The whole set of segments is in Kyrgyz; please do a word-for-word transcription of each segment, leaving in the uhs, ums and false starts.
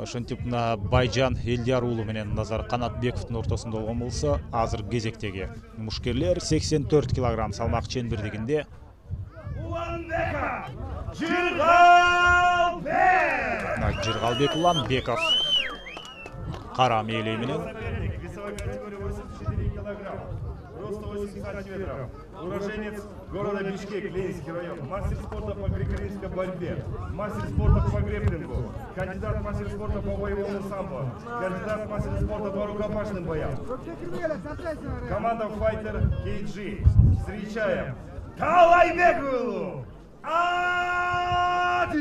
ошентип мына Байжан Элдияр уулу менен Назар Канатбековдун ортосунда болгон болсо, азыр кезектеги мушкерлер сексен төрт килограмм салмак чендирдигинде. Жыргалбек! Жыргалбек Уланбеков кара мээлей менен уроженец города Бишкек, Ленинский район, мастер спорта по греко-римской борьбе, мастер спорта по грэпплингу, кандидат в мастер спорта по боевому самбо, кандидат в мастер спорта по рукопашным боям. Команда Fighter кей джи. Встречаем Талайбек Адис!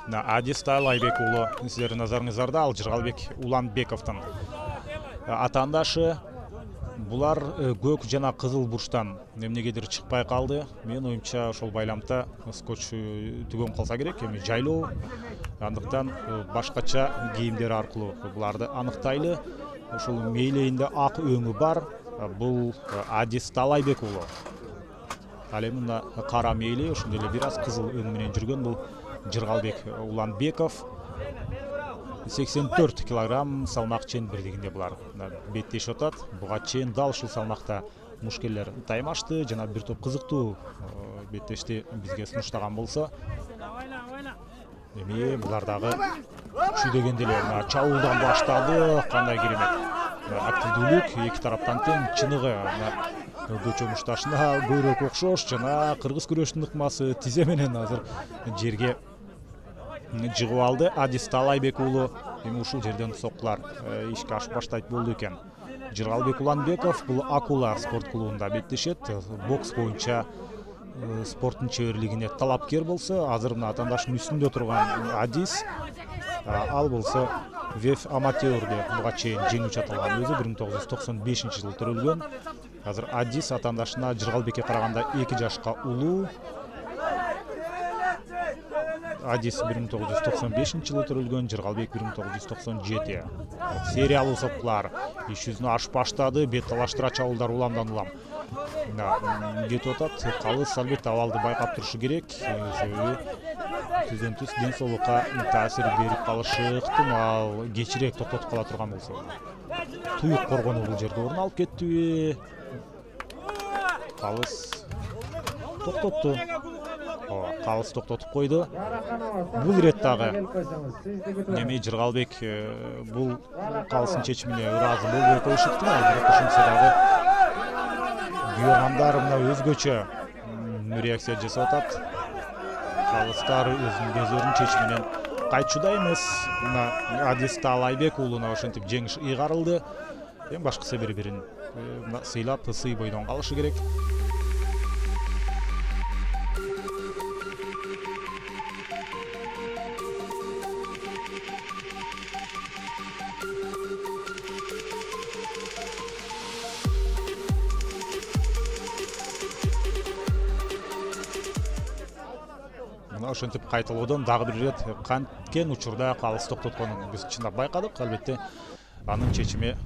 На Адис Талайбек уулу сиздердин назарыңыздарда, ал Жыргалбек Уланбековдун атаандашы. Булар көк жана кызыл бурчтан эмнегедир чыкпай калды. Мен оюмча ошол байламда скотч түгөн калса керек, эми жайлоо. Андыктан башкача кийимдер аркылуу буларды аныктайлы. Ошол мээлейинде ак өңү бар. Бул Адис Талайбек уулу. Ал эми мына кара мээлей, ошондой эле бир аз кызыл өң менен жүргөн бул Жыргалбек Уланбеков. сексен төрт килограмм салмак чендирдигинде булар беттешип атат. Буга чейин дал ушул салмакта мушкерлер таймашты, жана бир топ кызыктуу беттешти бизге сунуштаган болсо, эми булар дагы күчүдөгөндө эле чабуулдан баштады. Кандай керемет активдүүлүк, эки тараптан тең, чыныгы көчө мушташына көйрөк окшош, жана кыргыз күрөшүнүн ыкмасы тизе менен азыр жерге жыгып алды. Адис Талайбек уулу эми ушул жерден соккулар ишке ашып баштайт болду экен. Жыргалбек Уланбеков бул Акула спорт клубунда беттешет. Бокс боюнча спорттун чеберлигине талапкер болсо, азыр мына атаандаштын үстүндө турган Адис, ал болсо веф аматёрдө буга чейин жеңүүчү аталган, өзү бир миң тогуз жүз токсон бешинчи жылы төрөлгөн. Азыр Адис атаандашына Жыргалбекке караганда эки жашка улуу. Адис бир миң тогуз жүз токсон бешинчи жылы төрөлгөн, Жыргалбек бир миң тогуз жүз токсон жети. Сериялуу сопкулар иш жүзүнө ашып баштады, бет талаштыра чабуулдар уламдан улам кетип атат. Калыс албетте абалды байкап турушу керек, себеби түздөн түз ден соолукка таасир берип калышы ыктымал. Кечирээк токтотуп кала турган болсо. Туюк коргону бул жерде орун алып кеттиби? Калыс токтотту. Калыс токтотуп койду. Бул ирет дагы эми Жыргалбек бул калыстын чечимине ыраазы болбой коюшу ыктымал, бирок ошентсе дагы күйөрмандар мына өзгөчө реакция жасап атат. Калыстар өзүнүн көздөрүнүн чечиминен кайтчуда эмес. Мына Адис Талайбек уулуна ошентип жеңиш ыйгарылды. Эң башкысы бири-бирин сыйлап, ысый бойдон калышы керек. Ошентип кайталоодон дагы бир ирет канткен учурда калыс токтотконун биз чындап байкадык. Албетте анын чечими